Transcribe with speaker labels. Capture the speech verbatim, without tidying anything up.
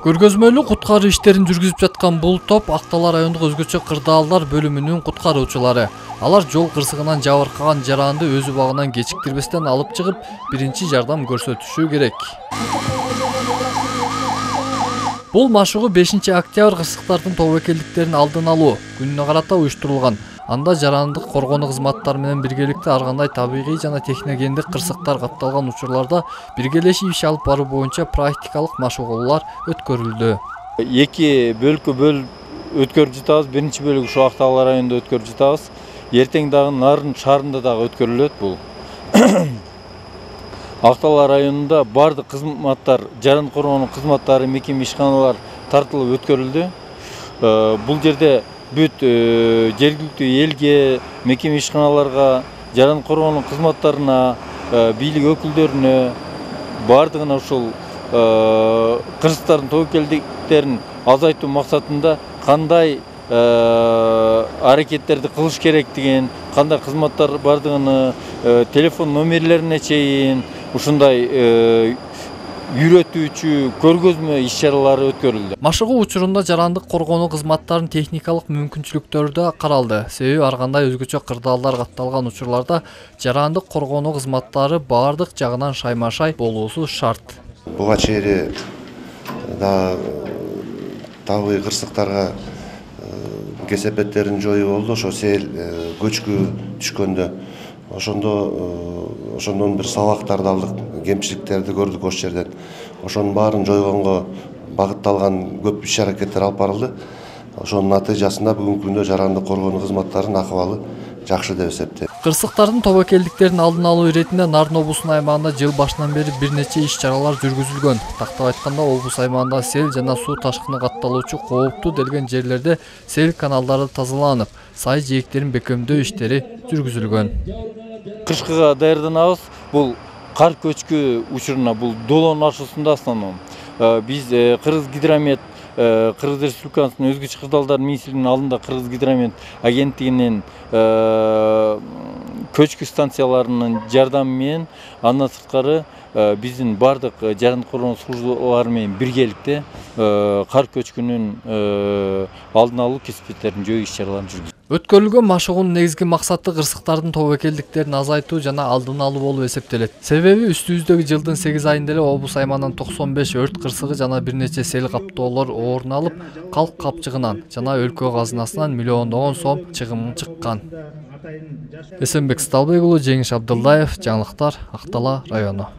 Speaker 1: Көргөзмөлүү куткаруу иштерин жүргүзүп жаткан бул топ Актала райондук өзгөчө кырдаалдар бөлүмүнүн куткаруучулары. Алар жол кырсыгынан жабыркаган жаранды өз убагынан кечиктирбестен алып чыгып, биринчи жардам көрсөтүшү керек. Бул машыгуу бешинчи октябрь кырсыктардын тобокелдиктерин алдын алуу күнүнө карата уюштурулган. Анда жарандык коргонуу кызматтары менен биргеликте ар кандай табигый жана техногендик кырсыктар катталган учурларда биргелешип иш алып баруу боюнча практикалык машыгуулар өткөрүлдү.
Speaker 2: Эки бөлүккө бөлүп өткөрүп жатабыз. Биринчи бөлүгү ушу Актала районунда өткөрүп жатабыз. Эртең дагы Нарын шаарында дагы өткөрүлөт бул. Актала районунда бардык кызматтар, жаран коргонуу кызматтары, мекеме ишканалар тартылып өткөрүлдү. Бул жерде бүт жергиликтүү элге, мекеме ишканаларга, жаран коргонуу кызматтарына, бийлик өкүлдөрүнө бардыгына ушул кырсыктардын тобокелдиктерин азайтуу максатында кандай аракеттерди кылыш керектигин, кандай кызматтар бардыгыны телефон номерлерине чейин ушундай үйрөтүүчү көргөзмө иш-чаралары өткөрүлдү.
Speaker 1: Машыгуу учурунда жарандык коргонуу кызматтарынын техникалык мүмкүнчүлүктөрү да каралды. Себеби ар кандай өзгөчө кырдаалдар катталган учурларда жарандык коргонуу кызматтары бардык жагынан шайма-шай болуусу шарт.
Speaker 3: Буга чейин да табигый кырсыктарга кесепеттерин жоюу болду. Ошо сел көчкү түшкөндө ошондо ошондон бир сабактарды алдык, кемчиликтерди көрдүк ошол жерден. Ошонун баарын жойгонго багытталган көп иш-аракеттер алып барылды. Ошонун натыйжасында бүгүнкү күндө жарандык коргонуу кызматтарынын акыбалы жакшы деп эсептейм.
Speaker 1: Кырсыктардын тобокелдиктерин алдын алуу иретинде Нарын облусунун аймагында жыл башынан бери бир нече иш-чаралар жүргүзүлгөн. Тактап айтканда, облус аймагында сел жана суу ташкыны катталуучу кооптуу делген жерлерде сел каналдары тазаланып, сай жээктерин бекемдөө иштери жүргүзүлгөн.
Speaker 2: Кышкыга даярданабыз. Бул кар көчкү учуруна, бул долоонун ашуусунда основном биз Кыргыз гидромет, Кыргыз Республикасынын өзгөчө кырдаалдар министрлигинин алдында Кыргыз гидромет агенттигинин көчкү станцияларынын жардамы менен, андан сырткары биздин бардык жарандык коргонуу службалары менен биргеликте кар көчкүнүн алдын алуу кесипеттерин жөө иш-чараларын жүргүзөбүз.
Speaker 1: Өткөрүлгөн машыгуунун негизги максаты кырсыктардын тобокелдиктерин азайтуу жана алдын алуу болуп эсептелет. Себеби үстүбүздөгү жылдын сегиз айында эле облус аймагынан токсон беш өрт кырсыгы жана бир нече сел каптоолор орун алып, калк капчыгынан жана өлкө казынасынан миллиондогон сом чыгым чыккан. Эсенбек Сталбек уулу, Жеңиш Абдылдаев, жаңылыктар, Актала району.